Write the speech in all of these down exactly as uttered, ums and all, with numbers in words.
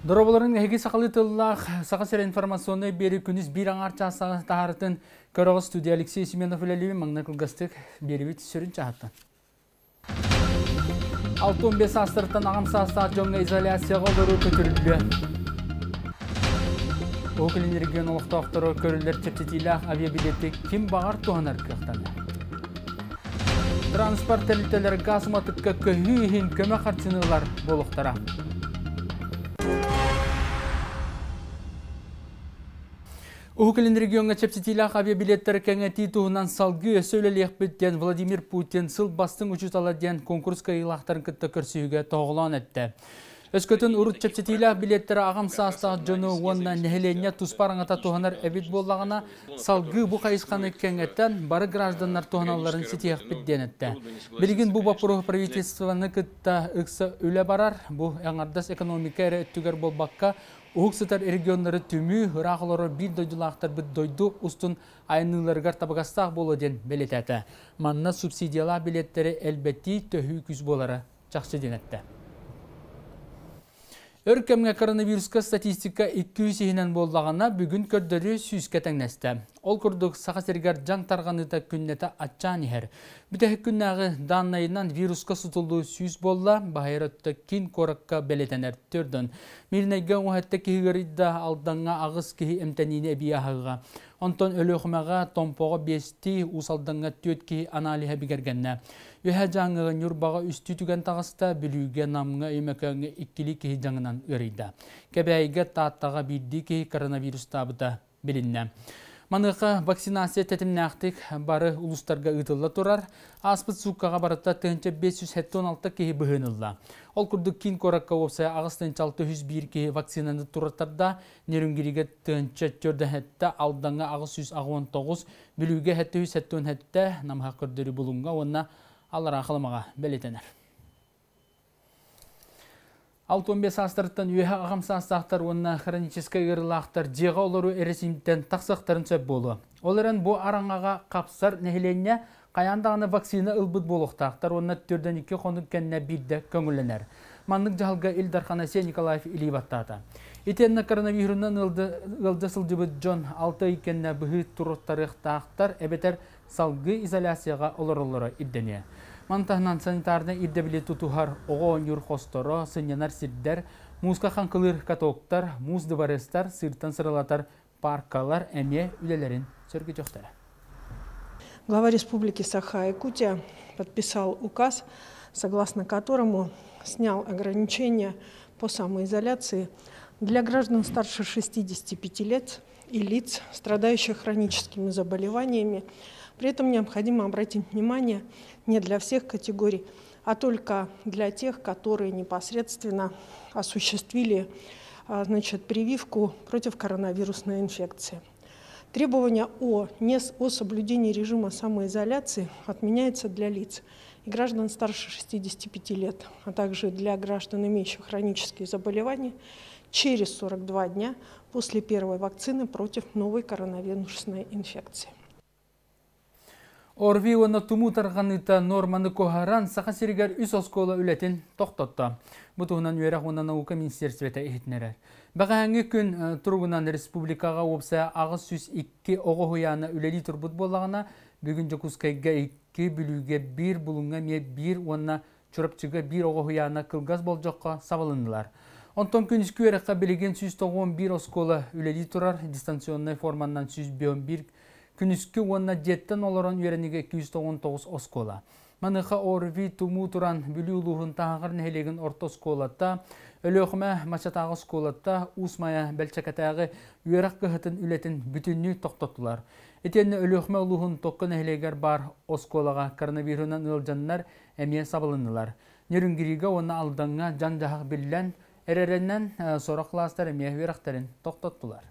Дорооболоруҥ, эһиги сахалыы тыллаах Саха сирэ информационнай биэрии күнүс биир аҥаар чаас таһаарыытын көрөҕүт. Студия Алексей Семенов үлэлиир. Маҥнай кылгастык биэриибит сүрүн чаһыттан. Алта уон бэс саастарыттан аҕам саастаах дьоҥҥо изоляцияҕа олоруу көтүрүллүө. Уһук Илин регион олохтоохторо көрүллэр чэпчэтиилээх авиабилети ким баҕар туһанар кыахтанар. Транспорт тэрилтэлэр газ уматыкка көһүү иһин көмө харчыны ылар буолуохтара. Уһук Илин региоҥҥа чэпчэтиилээх авиабилеттэр кэҥэтии туһунан салгыы өссө үлэлиэхпит диэн Владимир Путин сыл бастыҥ учуутала диэн конкурс кыайыылаахтарын кытта көрсүһүүгэ тоһоҕолоон эттэ. Өскөтүн урут чэпчэтиилээх билеттэрэ аҕам саастаах дьону уонна нэһилиэнньэ туспа араҥата туһанар эбит буоллаҕына, салгыы бу хайысханы кэҥэтэн бары гражданнар туһаналларын ситиһиэхпит диэн эттэ. Билигин бу боппуруоһу правительствоны кытта ыкса үлэ барар, бу аҥардас экономика эрэ өттүгэр буолбакка, уһук сытар регионнары түмүү, ыраах олорор биир дойдулаахтарбыт дойду устун айанныыларыгар табыгастаах буолуо диэн бэлиэтээтэ. Манна субсидиялаах билеттэри элбэтии төһүү күүс буолара чахчы диэн эттэ. Өр кэмҥэ коронавируска статистика икки жүз иһинэн буоллаҕына, бүгүн көрдөрүү сүүскэ тэҥнэстэ. Ол курдук Саха сиригэр дьаҥ тарҕаныыта күннэтэ аччаан иһэр. Бүтэһик күннээҕи дааннайынан вируска сутуллуу сүүс буолла, баһыйар өттө киин куоракка бэлиэтэнэр төрдөн. Мииринэйгэ уҥуһэтте киһи ыарыйда, Алдаҥҥа аҕыс киһи эмтэниини эбии аһыыга. Онтон Өлүөхүмэҕэ, Томпоҕо биэстии, Уус Алдаҥҥа түөрт киһи аналиһа бигэргэннэ. Үһэ дьаҥыга Ньурбаҕа үстүү түгэн таҕыста, Бүлүүгэ, Намҥа, Өймөкөөҥҥө иккилии киһи дьаҥынан ыарыйда. Кэбээйигэ, Тааттаҕа биирдии киһи коронавирустаабыта билиннэ. Маныаха вакцинация тэтимнээхтик бары улуустарга ыытылла турар. Ааспыт сууккаҕа барыта тыһыынча биэс сүүс сэттэ уон алта киһи быһыынылла. Ол курдук киин куоракка уопсайа аҕыс тыһыынча алта сүүс биир киһи вакцинаны тураттарда, Нерюнгригэ тыһыынча төрт сэттэ, Алдаҥҥа аҕыс сүүс аҕыс уон тоҕус, Бүлүүгэ сэттэ сүүс сэттэ уон сэттэ, Намыһах көрдөрүү Булуҥҥа уонна Аллараа Халымаҕа бэлиэтэнэр. Алта уон бэс саастарыттан үөһэ аҕам саастаахтар уонна хроническай ыарыылаахтар дьиэҕэ олоруу эрэсиимтэн тахсыахтарын сөп буолуо. Ол эрэн бу араҥаҕа хапсар нэһилиэнньэ хайаан даҕаны вакцина ылбыт буолуохтаахтар уонна төрдөн икки хонук кэннэ биирдэ көҥүллэнэр. Маннык дьаһалга Ил Дархан Айсен Николаев илии баттаата. Итиэннэ коронавирунан ыалдьа сылдьыбыт дьон алта ый кэннэ быһыы туруттарыахтаахтар эбэтэр салгыы изоляцияҕа олороллоро ирдэниэ. Мантаһынан санитарнай ирдэбили тутуһар оҕо оонньуур хосторо, сынньанар сирдэр, мууска хаҥкылыыр катоктар, муус дыбарыастар, сыыртан сыралатар паркалар эмиэ үлэлэрин сөргүтүөхтэрэ. Глава Республики Саха-Якутия подписал указ, согласно которому снял ограничения по самоизоляции для граждан старше шестидесяти пяти лет и лиц, страдающих хроническими заболеваниями. При этом необходимо обратить внимание не для всех категорий, а только для тех, которые непосредственно осуществили, а, значит, прививку против коронавирусной инфекции. Требования о, не с-, о соблюдении режима самоизоляции отменяются для лиц и граждан старше шестидесяти пяти лет, а также для граждан, имеющих хронические заболевания, через сорок два дня после первой вакцины против новой коронавирусной инфекции. ОРВИ уонна тумуу тарҕаныыта норманы куоһаран Саха сиригэр үс оскуола үлэтин тохтотто. Бу туһунан үөрэх уонна наука министерствота иһитиннэрэр. Бэҕэһээҥҥи күн, э, туругунан республикаҕа уопсайа аҕыс сүүс икки оҕо уһуйаана үлэлии турбут буоллаҕына, бүгүн Дьокуускайга икки, Бүлүүгэ биир, Булуҥҥа эмиэ биир уонна Чурапчыга биир оҕо уһуйаана кылгас болдьоххо сабылыннылар. Онтон күнүскү үөрэххэ билигин сүүс тоҕуон биир оскуола үлэлии турар, дистанционнай форманнан сүүс биир күнүскү уонна дьиэттэн олорон үөрэнигэ икки жүз тоҕуон тоҕус оскуола. Маныха ОРВИ тумуу туран Бүлүү улууһун Таһаҕар нэһилиэгин орто оскуолата, Өлүөхүмэ Мачатааҕы оскуолата, Уус Майа Бэлчэкэтээҕи үөрэх кыһатын үлэтин бүтүннүү тохтоттулар. Итиэннэ Өлүөхүмэ улууһун Токко нэһилиэгэр бар оскуолаҕа коронавирунан ыалдьаннар эмиэ сабылыннылар. Нерюнгригэ уонна Алдаҥҥа дьаҥ-дьаһах биллэн, эрэрэннэн, э, сорох класстар эмиэ үөрэхтэрин тохтоттулар.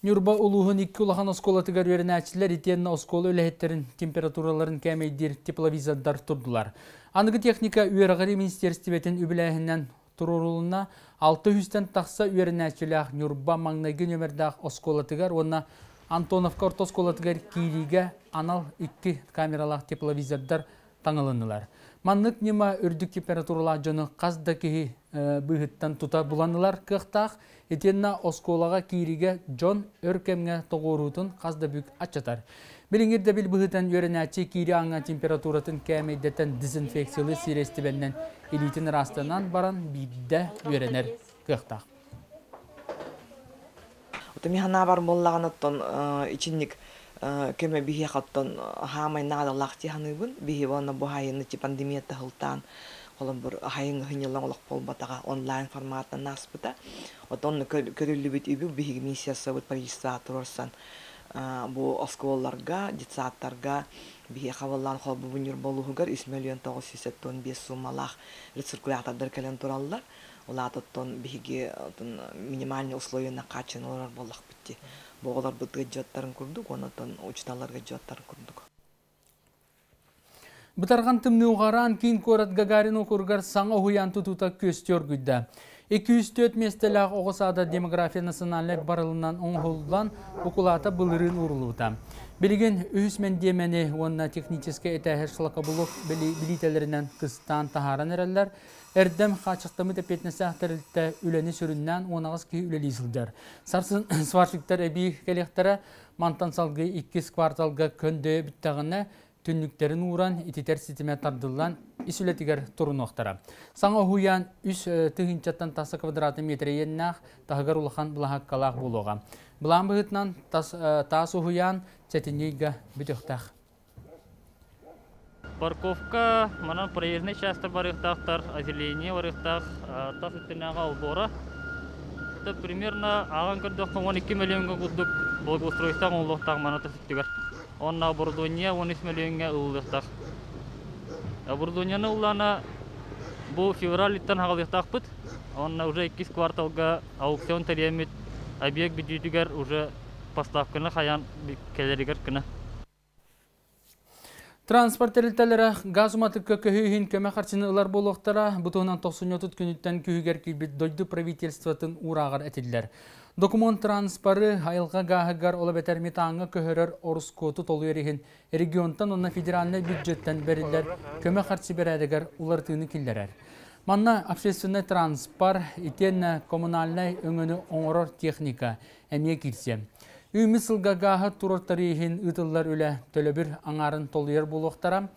Ньурба улууһун икки улахан оскуолатыгар үөрэнээччилэр итиэннэ оскуола үлэһиттерин температураларын кээмэйдиир тепловизордар турдулар. Аныгы техника үөрэҕири министерствотын үбүлээһинэн туруорулунна алты жүзден тахса үөрэнээччилээх Ньурба маҥнайгы нөмердээх оскуолатыгар уонна Антоновка орто оскуолатыгар киириигэ анал икки камералаах тепловизордар таҥылыннылар. Маннык ньыма үрдүк температуралаах дьону хас да киһи быыһыттан тута булан ылар кыахтаах, итиэннэ оскуолаҕа киириигэ дьон өр кэмҥэ тоҕуоруутун хас да бүк аччатар. Билиҥҥи ирдэбил быһыытынан үөрэнээччи киири ааҥҥа температуратын кээмэйдэтэн дезинфекциялыыр сириэстибэннэн илиитин ыраастанан баран биирдэ үөрэнэр кыахтаах. Отон ханаа буоллаҕына оттон ичинник көмө биһиэхэ оттон хаамай наадалаах дии саныыбын. Биһи уонна бу хайыны пандемия таһылтаан холобур хайын хыньылан олох буолбатаҕа онлайн форматынан ааспыта. Отон көрүллүбүт үбү биһиги миссиясыбыт правительство турарсан бу оскуолаларга, детсадтарга биһиэхэ буоллаан холбу Ньурба улууһугар үс миллион тоҕус сүүс сэттэ биэс суумалаах рециркулятордар кэлэн тураллар. Улаатыттан биһиги минимальный условияны хааччын олорор буоллахпыт дии. Бу оҕолорбут ыдьыаттарын курдук, онон учууталларга ыдьыаттарын курдук. Бытарҕан тымныы уҕараан киин куорат Гагарин округар саҥа уһуйаан тутуута күөстүү оргуйда. Икки сүүс түөрт миэстэлээх оҕо саада демография национальнай барылынан оҥоһуллан укулаата былырыын ууруллубута. Билигин үһүс мэндиэмэни уонна техническэй этээһи шлакоблок билиитэлэринэн кыстаан таһааран эрэллэр. Эрдэм хаачыстаммыт эппиэтинэстээх тэрилтэ үлэни сүрүннээн уон аҕыс киһи үлэлии сылдьар. Сарсын сварщиктар эбии кэлиэхтэрэ, мантан салгыы иккис кварталга көндөйө бүттэҕинэ түннүктэрин ууран, ититэр ситимэ тардыллан ис үлэтигэр турунуохтара. Саҥа уһуйаан үс тыһыынчаттан тахса квадратный метр иэннээх, таһыгар улахан былаһааккалаах буолуоҕа. Былаан быһыытынан таас уһуйаан сэтинньи ыйга бүтүөхтээх. Парковка, манан проездный часто барыахтаахтар, озеленение барыахтаах, тас өттүнээҕи олбуора. Это примерно ааҕан көрдөххө он икки миллионга курдук благоустройство оҥоһуллуохтаах мана тас өттүгэр. Онно оборудование он үс миллионга ылыллыахтаах. Оборудованиены ыллаана бу февраль-иттэн хаҕалыахтаахпыт. Онно уже иккис кварталга аукцион тэрийэммит объект бүтүүтүгэр уже поставканы хайаан кэлэригэр кына. Транспорт тэрилтэлэрэ газ уматыкка көһүү иһин көмө харчыны ылар буолуохтара. Бу туһунан тохсунньу отут күнүттэн күүһүгэр киирбит дойду правительствотын уурааҕар этиллэр. Документ транспоры айылҕа гааһыгар ол эбэтэр метаҥҥа көһөрөр ороскуоту толуйар иһин регионтан уонна федеральнай бюджеттэн бэриллэр көмө харчы бэрээдэгэр уларытыыны киллэрэр. Манна общественный транспорт итиэннэ коммунальнай өҥөнү оҥорор техника эмиэ киирсиэ. Үүммүт сылга гааһы турар иһин ыытыллар үлэ төлөбүр аҥаарын толуйар буолуохтара.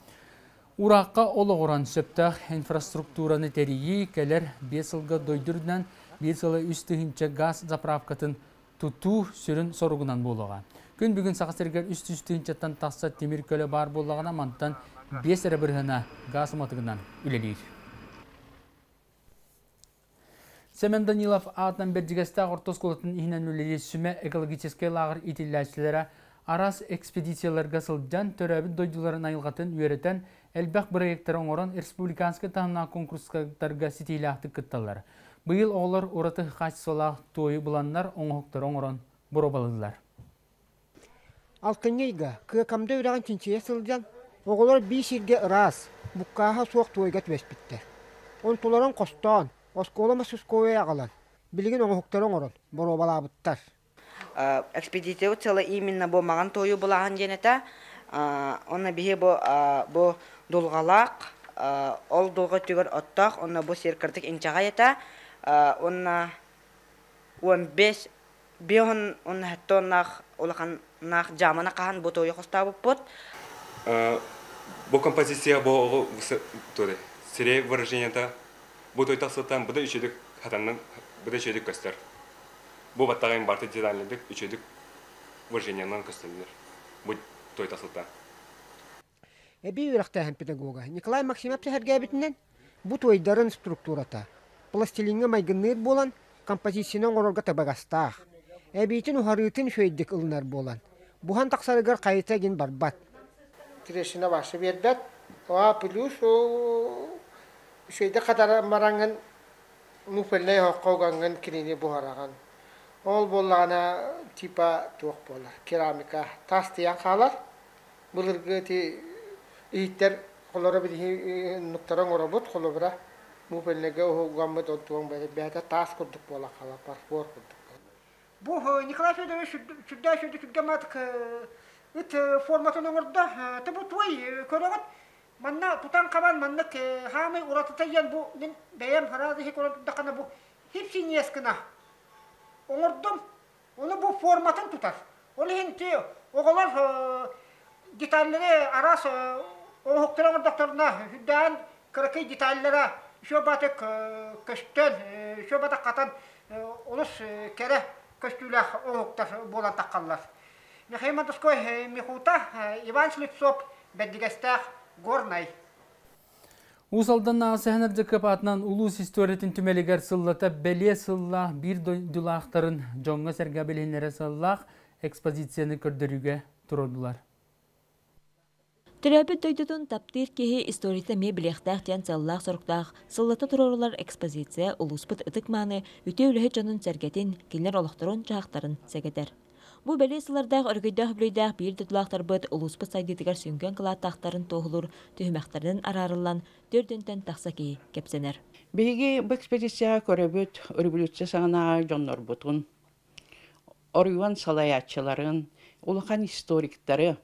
Уураахха олоҕуран сөптөөх инфраструктураны тэрийии кэлэр биэс сылга дойду үрдүнэн биир сыла үс тыһыынча газ заправкатын тутуу сүрүн соругунан буолуоҕа. Күн бүгүн Саха сиригэр үс жүз тыһыынчаттан тахса тимир көлө баар буоллаҕына мантан биэс эрэ бырыһына газ уматыгынан үлэлиир. Семен Данилов аатынан Бэрдьигэстээх орто оскуолатын иһинэн үлэлиир Сүмэ экологическай лааҕыр иитиллээччилэрэ араас экспедицияларга сылдьан төрөөбүт дойдуларын айылҕатын үөрэтэн элбэх бырайыактары оҥорон республиканскай таһымнаах конкурстарга ситиилээхтик кытталлар. Быйыл оҕолор ураты хаачыстыбалаах туойу буланнар оҥоһуктары оҥорон боруобалыыллар. Алтынньы ыйга Кыакамда үрэҕин чинчийэ сылдьан, оҕолор биир сиргэ ыраас, буккааһа суох туойга түбэспиттэр. Онтуларын хостоон, оскуола мастерскойа аҕалан, билигин оҥоһуктары оҥорон боруобалаабыттар. Экспедиция цело именно бу маҕан туойу булааһын диэн этэ. Онно биһи бу бу дулҕалаах, ол дулҕа өттүгэр оттоох, онно бу сир кырдык инчэҕэй этэ. Онно он бес биэһон онно сэттэ оннаах улаханнаах дьааманы хаһан бу туойу хостообуппут. Бу композиция бу сирей выражениета бу той тахсытан бу да үчүдүк хатаннан бу да үчүдүк көстөр. Бу баттаҕын барты детальныдык үчүдүк выражениянан көстөллөр. Бу той тахсытан. Эбии үөрэхтээһин педагога Николай Максимов сэһэргээбитинэн бу туойдарын структурата пластилиҥҥа майгынныыр буолан композицияны оҥорорго табыгастаах. Эбиитин уһарыытын үчүгэйдик ылынар буолан, буһан тахсарыгар хайыта гин барбат. Трещина башы бербет. А плюс үчүгэйдик хатара мараҥын муфельнай хоққоғаңын кинини буһараган. Ол буоллаҕына типа туох буолар, керамика тас тыйан хаалар. Былыргы ти иһиттэр холоро билиһи нуктаран оробут холобура муфельнайга уһугаммыт онтуон бэйэтэ таас курдук буола хаалар, фарфор курдук. Бу Николай Федорович сүрдээх сүрдэ түргэн ыт форматын оҥордо. Та бу туой көрөҕүт Манна тутан хабан маннык хаамай уратыта диэн бу мин бэйэм хараады хикорон турдаххына бу хипсиньиэс гына оҥордум. Ону бу форматын тутар. Ол иһин ти оҕолор деталлары араас оҥоһуктары оҥордохторуна үрдээн кыракый деталлара үчүгэй баҕайытык көстөн, үчүгэй баҕайытык хатан олус кэрэ көстүүлээх оҥоһуктар буолан таххаллар. Михаил Мандовской Михута, Иван Слепцов, Бэрдигэстээх, Горнай. Уус Алданнааҕы Сэһэн Ардьакыап аатынан улуус историятын түмэлигэр сыллата бэлиэ сыллаах биир дойдулаахтарын дьоҥҥо-сэргэ билиһиннэрэ сыаллаах экспозицияны көрдөрүүгэ туруордулар. Төрөөбүт дойдутун таптыыр киһи историята эмиэ билиэхтээх диэн сыаллаах-соруктаах сыллата туруорулар экспозиция улууспут ытык-мааны үтүө үлэһит дьонун сэргэтин, кинилэр олохторун-дьаһахтарын сэгэтэр. Бу бэлиэ сыллардаах өрөгөйдөөх-үбүлүөйдээх биир дойдулаахтарбыт улууспут сайдыытыгар сүҥкэн кылааттаахтарын туоһулуур түһүмэхтэринэн араарыллан төрдүнтэн тахса киһи кэпсэнэр. Биһиги бу экспедицияҕа көрөбүт революция саҕанааҕы дьоннорбутун, оройуон салайааччыларын, улахан историктары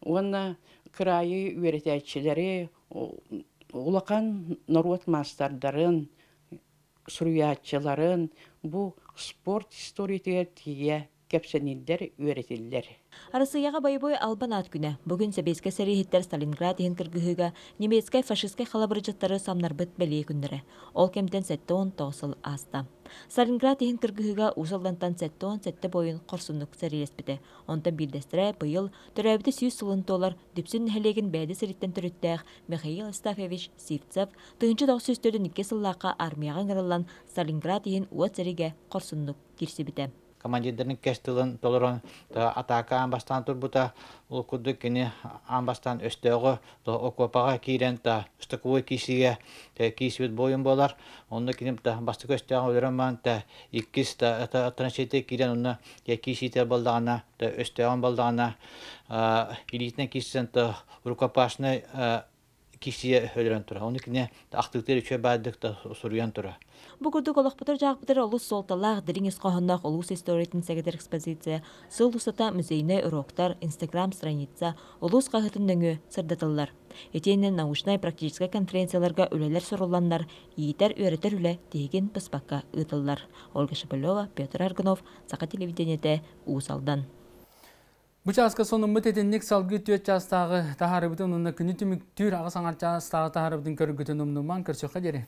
уонна кыраайы үөрэтээччилэри, улахан норуот маастардарын, суруйааччыларын бу спорт историятыгар тиийэ кэпсэниллэр, үөрэтиллэр. Арассыыйаҕа бойобуой албан аат күнэ. Бүгүн сэбиэскэй сэрииһиттэр Сталинград иһин кыргыһыыга немецкэй фашистскай халабырдьыттары самнарбыт бэлиэ күннэрэ. Ол кэмтэн сэттэ уон тоҕус сыл ааста. Сталинград иһин кыргыһыыга Уус Алдантан сэттэ уон сэттэ буойун хорсуннук сэриилэспитэ. Онтон биирдэстэрэ быйыл төрөөбүтэ сүүс сылын туолар Дүпсүн нэһилиэгин Бээди сириттэн төрүттээх Михаил Астафьевич Сивцев тыһыынча тоҕус сүүс төрдүн икки сыллаахха армияҕа ыҥырыллан Сталинград иһин уот сэриигэ хорсуннук киирсибитэ. Командирдарын кэс тылын толорон атаака аан бастаан турбута. Ол курдук кини аан бастаан өстөөҕү окуопаҕа киирэн та штыковой киисигэ киисибит буойун буолар. Онно кини бастакы өстөөҕү өлөрөн баран та иккис та траншейте киирэн онно киисиитэ балдаҕына та өстөөҕүн балдаҕына илиитинэн киирсэн та рукопашный киисийэ өлөрөн турар. Ону кини ахтыытыгар үчүгэй баайдык да суруйан турар. Бу курдук олохпутугар-дьаһахпытыгар олус суолталаах дириҥ ис хоһоонноох улуус историятын сэгэтэр экспозиция сыл устата музейнай уроктар, инстаграм-страница, улуус хаһыатын нөҥүө сырдатыллар. Итиэннэ научнай-практическай конференцияларга үлэлэр сурулланнар, иитэр-үөрэтэр үлэ тиһигин быспакка ыытыллар. Ольга Шепелева, Петр Аргунов, Саха телевидениетэ, Уус Алдан. Бу чааска сонуммут итинник салгыы түөрт чаастааҕы таһаарыбытын уонна күнү түмүктүүр аҕыс аҥар чаастааҕы таһаарыбытын көргүтүн умнумаҥ көрсүөххэ диэри.